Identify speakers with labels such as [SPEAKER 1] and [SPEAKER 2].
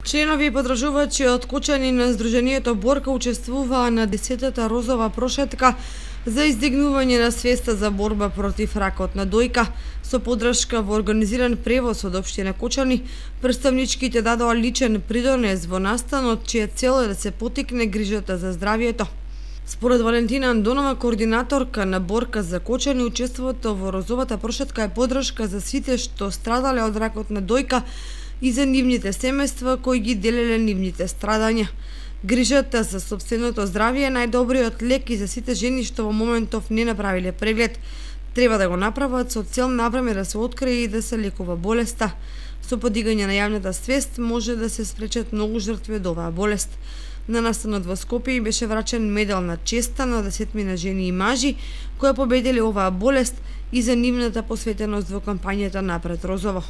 [SPEAKER 1] Членови и подржувачи од Кочани на Сдруженијето Борка учествуваа на 10-та розова прошетка за издигнување на свеста за борба против ракот на дојка. Со поддршка во организиран превоз од општина Кочани, претставничките дадоа личен придонес во настанот, чија цел е да се поттикне грижата за здравието. Според Валентина Андонова, координаторка на Борка за Кочани, учеството во розовата прошетка е поддршка за сите што страдале од ракот на дојка и за нивните семејства кои ги делеле нивните страдања. Грижата за сопственото здравје е најдобриот лек и за сите жени што во моментов не направиле преглед. Треба да го направат со цел навреме да се открие и да се лекува болеста. Со подигање на јавната свест може да се спречат многу жртви од оваа болест. На настанот во Скопје беше врачен медал на честа на 10 жени и мажи кои победиле оваа болест и за нивната посветеност во кампањата Напред Розово.